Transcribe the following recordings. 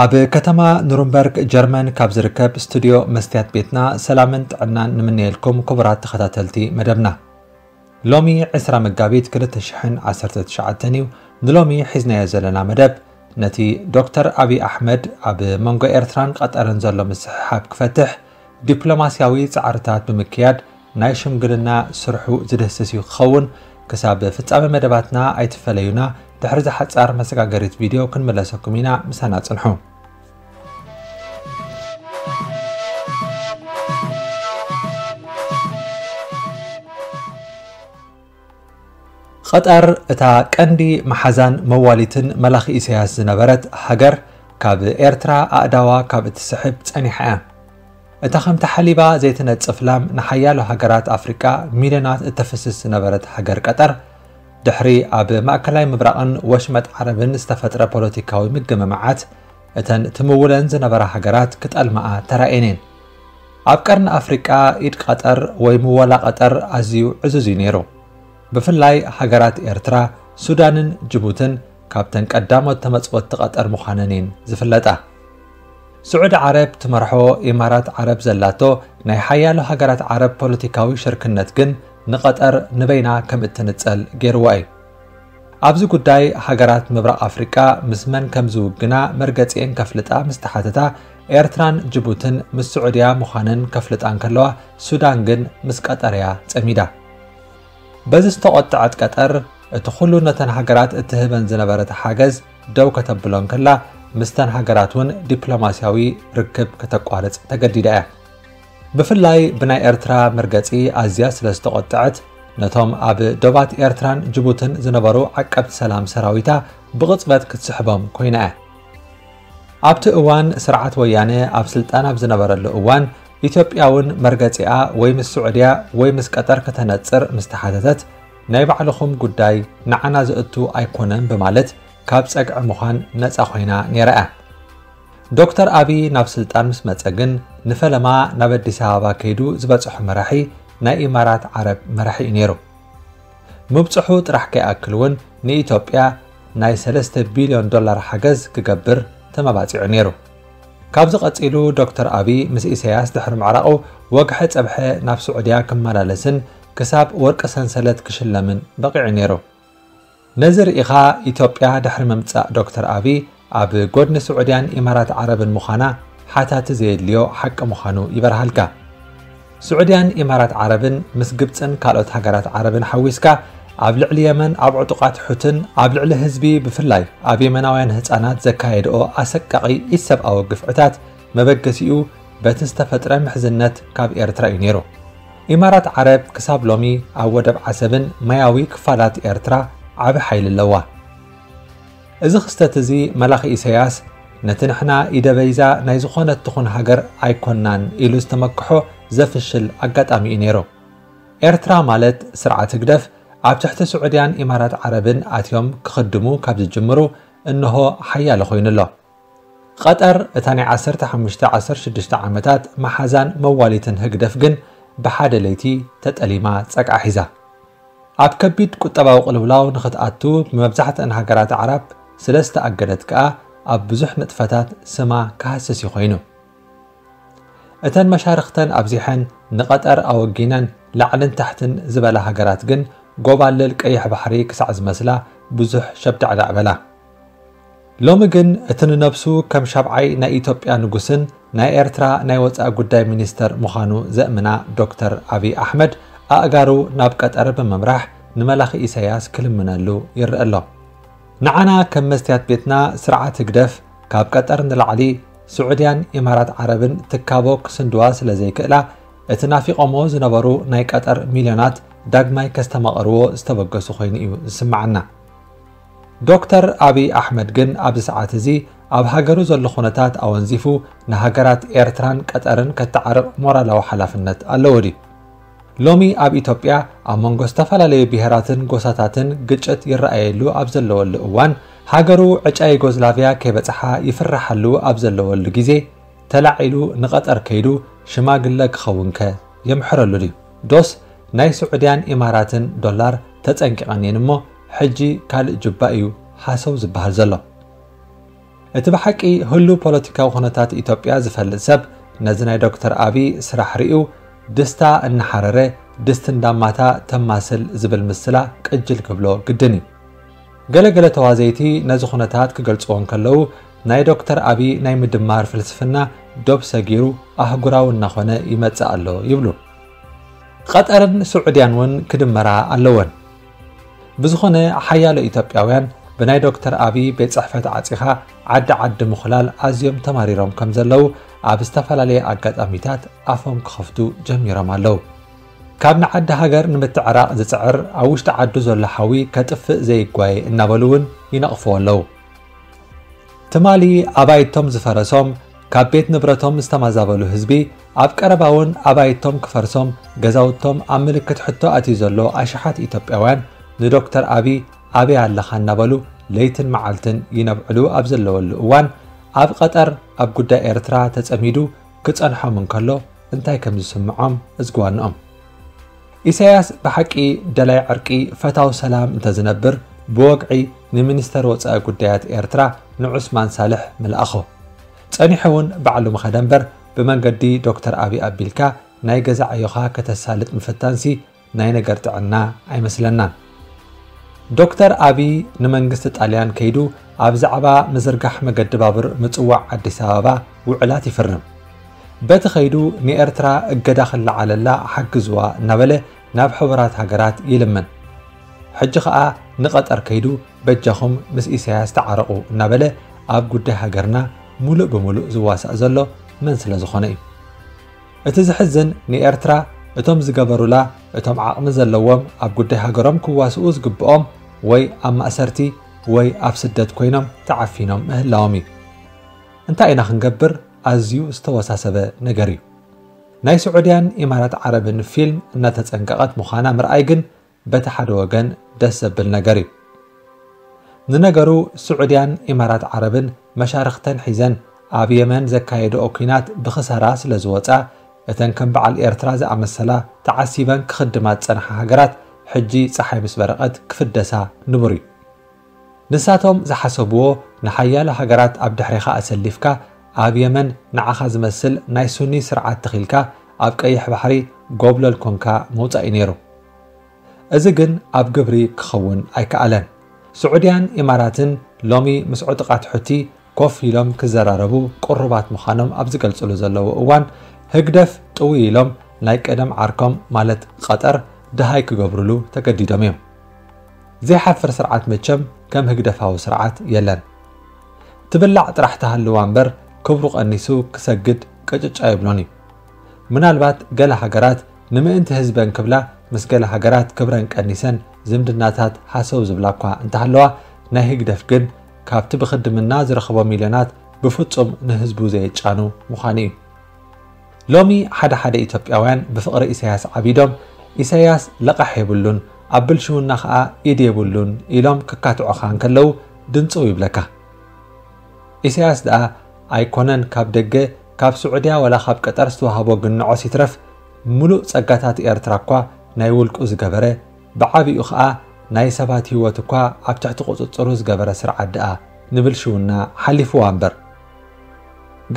ኣብ ከተማ ኑርንበርግ ጀርመን ካብ ዝርከብ ስቱድዮ መስትያት ቤትና ሰላምን ጥዕናን ንምነየልኩም ክቡራት ተኸታተልቲ መደብና። ሎሚ ዕስራ መጋቢት ክልተ ሽሕን ዓሰርተ ትሽዓተን እዩ። ንሎሚ ሒዝናዮ ዘለና መደብ ነቲ ዶክተር ኣብይ ኣሕመድ ኣብ መንጎ ኤርትራን ቀጠርን ዘሎ ምስሕሓብ ክፈትሕ ዲፕሎማስያዊ ጻዕርታት ብምክያድ ናይ ሽምግልና ስርሑ ዝድህስስ እዩ ክኸውን። ክሳብ ፍጻመ መደባትና ኣይትፈለዩና። ድሕሪ እዛ ሓጻር መሰጋገሪት ቪድዮ ክንምለሰኩም ኢና። ምሳና ጽንሑ። ቀጠር እታ ቀንዲ መሓዛን መዋሊትን መላኺ ኢሳያስ ዝነበረት ሃገር ካብ ኤርትራ ኣእዳዋ ካብ እትስሕብ ጸኒሓ እያ። እታ ከምቲ ሓሊባ ዘይትነጽፍ ላም ንሓያሎ ሃገራት ኣፍሪቃ ሚልዮናት እተፍስስ ዝነበረት ሃገር ቀጠር፣ ድሕሪ ኣብ ማእከላይ ምብራቕን ወሽመጥ ዓረብን ዝተፈጥረ ፖለቲካዊ ምግምማዓት፣ እተን ትምውለን ዝነበራ ሃገራት ክጠልማኣ ተራእየን እየን። ኣብ ቀርኒ ኣፍሪቃ ኢድ ቀጠር ወይ ምወላ ቀጠር ኣዝዩ ዕዙዝ እዩ ነይሩ። ብፍላይ ሃገራት ኤርትራ፣ ሱዳንን ጅቡትን ካብተን ቀዳሞት ተመጽወቲ ቀጠር ምዃነን እየን ዝፍለጣ። ስዑዲ ዓረብ ትመርሖ ኢማራት ዓረብ ዘላቶ ናይ ሓያሎ ሃገራት ዓረብ ፖለቲካዊ ሽርክነት ግን ንቐጠር ንበይና ከም እትንጸል ገይርዋ እዩ። ኣብዚ ጉዳይ ሃገራት ምብራቕ ኣፍሪቃ ምስ መን ከም ዝውግና መርገጺኤን ከፍልጣ ምስ ተሓተታ፣ ኤርትራን ጅቡትን ምስ ስዑድያ ምዃነን ከፍልጣ እንከለዋ፣ ሱዳን ግን ምስ ቀጠር እያ ጸሚዳ። በዚ ዝተቖጠዐት ቀጠር፣ እቲ ኩሉ ነተን ሃገራት እትህበን ዝነበረት ሓገዝ ደው ከተብሎ እንከላ፣ ምስተን ሃገራት እውን ዲፕሎማስያዊ ርክብ ከተቋርጽ ተገዲዳ እያ። ብፍላይ ብናይ ኤርትራ መርገጺ ኣዝያ ስለ ዝተቖጠዐት፣ ነቶም ኣብ ዶባት ኤርትራን ጅቡትን ዝነበሩ ዓቀብቲ ሰላም ሰራዊታ ብቕጽበት ክትስሕቦም ኮይና እያ። ኣብቲ እዋን ስርዓት ወያነ ኣብ ስልጣን ኣብ ዝነበረሉ እዋን፣ ኢትዮጵያ እውን መርገጺኣ ወይ ምስ ስዑድያ ወይ ምስ ቀጠር ከተነጽር ምስ ተሓተተት፣ ናይ ባዕልኹም ጉዳይ ንዓና ዘእቱ ኣይኮነን ብማለት ካብ ጸግዒ ምዃን ነጻ ኮይና ነይራ እያ። ዶክተር ኣብይ ናብ ስልጣን ምስ መጸ ግን ንፈለማ ናብ ኣዲስ ኣበባ ከይዱ ዝበጽሖ መራሒ ናይ ኢማራት ዓረብ መራሒ እዩ ነይሩ። ምብጽሑ ጥራሕ ከይኣክል እውን ንኢትዮጵያ ናይ ሰለስተ ቢልዮን ዶላር ሓገዝ ክገብር ተመባጺዑ ነይሩ። ካብዚ ቀጺሉ ዶክተር ኣብይ ምስ ኢሳያስ ድሕሪ ምዕራቑ ወግሐ ጸብሐ ናብ ስዑድያ ክመላለስን ክሳብ ወርቂ ሰንሰለት ክሽለምን በቒዑ ነይሩ። ነዚ ርኢኻ ኢትዮጵያ ድሕሪ ምምጻእ ዶክተር ኣብይ ኣብ ጎድኒ ስዑድያን ኢማራት ዓረብን ምዃና ሓታቲ ዘየድልዮ ሓቂ ምዃኑ ይበርሃልካ። ስዑድያን ኢማራት ዓረብን ምስ ግብጽን ካልኦት ሃገራት ዓረብን ሓዊስካ ኣብ ልዕሊ የመን ኣብ ዕጡቓት ሑትን ኣብ ልዕሊ ህዝቢ ብፍላይ ኣብ የመናውያን ህጻናት ዘካየድኦ ኣሰቃቒ ኢሰብኣዊ ግፍዕታት መበገሲኡ በቲ ዝተፈጥረ ምሕዝነት ካብ ኤርትራ እዩ ነይሩ። ኢማራት ዓረብ ክሳብ ሎሚ ኣብ ወደብ ዓሰብን ማያዊ ክፋላት ኤርትራ ዓቢ ሓይሊ ኣለዋ። እዚ ክስተት እዚ መላኺ ኢሳያስ ነቲ ንሕና ኢደ በይዛ ናይ ዝኾነት ትኹን ሃገር ኣይኮናን ኢሉ ዝተመክሖ ዘፍሽል ኣጋጣሚ እዩ ነይሩ። ኤርትራ ማለት ስርዓት ህግደፍ ኣብ ትሕቲ ስዑድያን ኢማራት ዓረብን ኣትዮም ክኽድሙ ካብ ዝጅምሩ እንሆ ሓያለ ኮይኑ ኣሎ። ቀጠር እታ ናይ ዓሰርተ ሓሙሽተ ዓሰርተ ሽዱሽተ ዓመታት መሓዛን መዋሊትን ህግደፍ ግን ብሓደ ለይቲ ተጠሊማ ጸግዓ ሒዛ። ኣብ ከቢድ ቁጠባዊ ቅልውላው ንኽትኣቱ ብመብዛሕትአን ሃገራት ኣዕራብ ስለ ዝተኣገደት ከኣ ኣብ ብዙሕ ንጥፈታት ስማ ክሃስስ እዩ ኮይኑ። እተን መሻርኽተን ኣብዚሐን ንቐጠር ኣወጊነን ላዕልን ታሕትን ዝበላ ሃገራት ግን ጎባልል ቀይሕ ባሕሪ ክሳዕ ዝመስላ ብዙሕ ሸብዳዕዳዕ በላ። ሎሚ ግን እቲ ንነብሱ ከም ሻብዓይ ናይ ኢትዮጵያ ንጉስን ናይ ኤርትራ ናይ ወጻኢ ጉዳይ ሚኒስተር ምዃኑ ዘእምና ዶክተር ኣብይ ኣሕመድ ኣእጋሩ ናብ ቀጠር ብምምራሕ ንመላኺ ኢሳያስ ክልምነሉ ይረአ ኣሎ። ንዓና ከም መስትያት ቤትና ስርዓት ህግደፍ ካብ ቀጠር ንላዕሊ ስዑድያን ኢማራት ዓረብን ትካቦ ክስንድዋ ስለ ዘይክእላ እቲ ናፊቖሞ ዝነበሩ ናይ ቀጠር ሚልዮናት ዳግማይ ከስተማቕርዎ ዝተበገሱ ኮይኑ እዩ ዝስምዓና። ዶክተር ኣብይ ኣሕመድ ግን ኣብዚ ሰዓት እዚ ኣብ ሃገሩ ዘሎ ኩነታት ኣወንዚፉ ንሃገራት ኤርትራን ቀጠርን ከተዓርቕ ሞራላዊ ሓላፍነት ኣለዎ ድዩ? ሎሚ ኣብ ኢትዮጵያ ኣብ መንጎ ዝተፈላለዩ ብሄራትን ጎሳታትን ግጭት ይረኣየሉ ኣብ ዘለወሉ እዋን፣ ሃገሩ ዕጫ ዩጎዝላቭያ ከይበጽሓ ይፍርሓሉ ኣብ ዘለወሉ ግዜ፣ ተላዒሉ ንቐጠር ከይዱ ሽማግለ ክኸውንከ የምሕረሉ ድዩ? ዶስ ናይ ስዑድያን ኢማራትን ዶላር ተጸንቂቐን እየን እሞ ሕጂ ካልእ ጁባ እዩ ሃሰው ዝበሃል ዘሎ። እቲ ብሓቂ ህሉ ፖለቲካዊ ኩነታት ኢትዮጵያ ዝፈልጥ ሰብ ነዚ ናይ ዶክተር ኣቢ ስራሕ ርእዩ ድስታ እናሓረረ ድስቲ እንዳማታ ተማስል ዝብል ምስላ ቅጅል ክብሎ ግድን እዩ። ገለገለ ተዋዘይቲ ነዚ ኩነታት ክገልጽዎ እንከለዉ ናይ ዶክተር ኣቢ ናይ ምድማር ፍልስፍና ዶብ ሰጊሩ ኣህጉራዊ እናኾነ ይመጽእ ኣሎ ይብሉ። ቐጠርን ስዑድያን እውን ክድመራ ኣለወን። ብዝኾነ ሓያሎ ኢትዮጵያውያን ብናይ ዶክተር ኣቢ ቤት ጽሕፈት ዓጺኻ ዓዲ ዓዲ ምኹላል ኣዝዮም ተማሪሮም ከም ዘለዉ ኣብ ዝተፈላለየ ኣጋጣሚታት ኣፎም ክኸፍቱ ጀሚሮም ኣለዉ። ካብ ንዓዲ ሃገር ንምትዕራቕ ዝጽዕር ኣብ ውሽጢ ዓዱ ዘሎ ሓዊ ከጥፍእ ዘይጓየ እናበሉ እውን ይነቕፍዎ ኣለዉ። ትማሊ ኣባይቶም ዝፈረሶም ካብ ቤት ንብረቶም ዝተማዛበሉ ህዝቢ ኣብ ቀረባ እውን ኣባይቶም ክፈርሶም ገዛውቶም ኣብ ምልክት ሕቶ ኣትዩ ዘሎ ኣሽሓት ኢትዮጵያውያን ንዶክተር ኣቢ ኣበይ ኣለኻ እናበሉ ለይትን መዓልትን ይነብዕሉ ኣብ ዘለወሉ እዋን ኣብ ቐጠር ኣብ ጉዳይ ኤርትራ ተጸሚዱ ክጸንሖም እንከሎ እንታይ ከም ዝስምዖም እዝግዋንኦም። ኢሳያስ ብሓቂ ደላይ ዕርቂ ፈታው ሰላም እንተዝነብር ብወግዒ ንሚኒስተር ወጻኢ ጉዳያት ኤርትራ ንዑስማን ሳልሕ ምልኣኾ። ጸኒሑ እውን ባዕሉ ምኸደ እምበር ብመንገዲ ዶክተር ኣቢ ኣቢልካ ናይ ገዛ ዕዮኻ ከተሳልጥ ምፍታንሲ ናይ ነገር ጥዕና ኣይመስለናን። ዶክተር ኣቢ ንመንግስቲ ጣልያን ከይዱ ኣብ ዛዕባ ምዝርጋሕ መገዲ ባቡር ምጽዋዕ ኣዲስ ኣበባ ውዕላት ይፍርም። በቲ ከይዱ ንኤርትራ እገዳ ክለዓለላ ሓግዝዋ እናበለ ናብ ሕቡራት ሃገራት ይልምን። ሕጂ ኸኣ ንቐጠር ከይዱ በጃኹም ምስ ኢሳያስ ተዓረቑ እናበለ ኣብ ጉዳይ ሃገርና ሙሉእ ብምሉእ ዝዋሳእ ዘሎ መን ስለ ዝኾነ እዩ? እቲ ዝሕዝን ንኤርትራ እቶም ዝገበሩላ እቶም ዓቕሚ ዘለዎም ኣብ ጉዳይ ሃገሮም ክዋስኡ ዝግብኦም ወይ ኣብ ማእሰርቲ ወይ ኣብ ስደት ኮይኖም ተዓፊኖም ምህላዎም እዩ። እንታይ ኢና ክንገብር? ኣዝዩ ዝተወሳሰበ ነገር እዩ። ናይ ስዑድያን ኢማራት ዓረብን ፊልም እናተጸንቀቐት ምዃና ምርኣይ ግን በቲ ሓደ ወገን ደስ ዘብል ነገር እዩ። ንነገሩ ስዑድያን ኢማራት ዓረብን መሻርኽተን ሒዘን ኣብ የመን ዘካየድኦ ኲናት ብኽሳራ ስለ ዝወጻ እተን ከም በዓል ኤርትራ ዝኣመሰላ ተዓሲበን ክኽድማ ዝጸንሓ ሃገራት ሕጂ ጸሓይ ምስ በረቐት ክፍደሳ ንቡር እዩ። ንሳቶም ዝሓሰብዎ ንሓያሎ ሃገራት ኣብ ድሕሬኻ ኣሰሊፍካ ኣብ የመን ንዓኻ ዝመስል ናይ ሱኒ ስርዓት ተኺልካ ኣብ ቀይሕ ባሕሪ ጎብለል ኮንካ ምውጻእ እዩ ነይሩ። እዚ ግን ኣብ ግብሪ ክኸውን ኣይከኣለን። ስዑድያን ኢማራትን ሎሚ ምስ ዕጡቓት ሑቲ ኮፍ ኢሎም ክዘራረቡ ቅሩባት ምዃኖም ኣብ ዝገልጽሉ ዘለዉ እዋን ህግደፍ ጥውይ ኢሎም ናይ ቀደም ዓርኮም ማለት ቐጠር ደሃይ ክገብሩሉ ተገዲዶም እዮም። ዘይሓፍር ስርዓት መቸም ከም ህግደፋዊ ስርዓት የለን። ትብላዕ ጥራሕ ተሃልዋ እምበር ክብሩ ቀኒሱ ክሰግድ ቅጭጭ ኣይብሎን እዩ። ምናልባት ገለ ሃገራት ንምእንቲ ህዝበን ክብላ ምስ ገለ ሃገራት ክብረን ቀኒሰን ዝምድናታት ሃሰው ዝብላ እኳ እንተሃለዋ ናይ ህግደፍ ግን ካብቲ ብኽድምና ዝረኽቦ ሚልዮናት ብፍጹም ንህዝቡ ዘየጫኑ ምዃኑ እዩ። ሎሚ ሓደ ሓደ ኢትዮጵያውያን ብፍቕሪ ኢሳያስ ዓቢዶም ኢሳያስ ለቓሕ የብሉን ኣብ ብልሽውና ኸኣ ኢድ የብሉን ኢሎም ክካትዑኻ እንከለዉ ድንጽው ይብለካ። ኢሳያስ ደኣ ኣይኮነን ካብ ደገ ካብ ስዑድያ ወላ ካብ ቀጠር ዝተዋህቦ ግንዖስ ይትረፍ ምሉእ ጸጋታት ኤርትራ እኳ ናይ ውልቁ ዝገበረ ብዓቢኡ ኸኣ ናይ ሰባት ህይወት እኳ ኣብ ትሕቲ ቁጽጽሩ ዝገበረ ስርዓት ደኣ ንብልሽውና ሓሊፍዋ እምበር።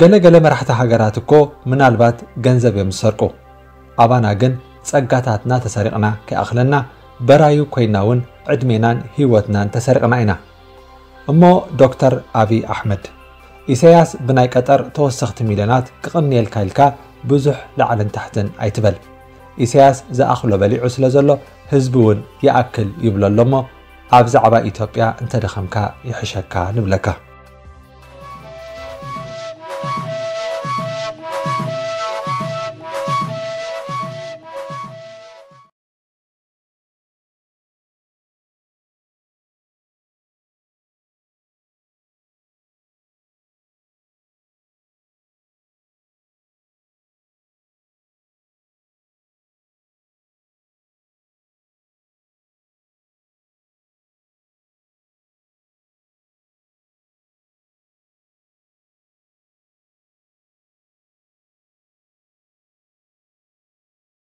ገለ ገለ መራሕቲ ሃገራት እኮ ምናልባት ገንዘብ እዮም ዝሰርቁ። ኣባና ግን ጸጋታትና ተሰሪቕና ከይኣኽለና በራዩ ኮይና እውን ዕድሜናን ህይወትናን ተሰሪቕና ኢና። እሞ ዶክተር ኣብይ ኣሕመድ፣ ኢሳያስ ብናይ ቀጠር ተወሰኽቲ ሚልዮናት ክቕንየልካ ኢልካ ብዙሕ ላዕልን ታሕትን ኣይትበል። ኢሳያስ ዝኣኽሎ በሊዑ ስለ ዘሎ ህዝቢ እውን ይኣክል ይብሎ ኣሎ እሞ ኣብ ዛዕባ ኢትዮጵያ እንተደኸምካ ይሕሸካ ንብለካ።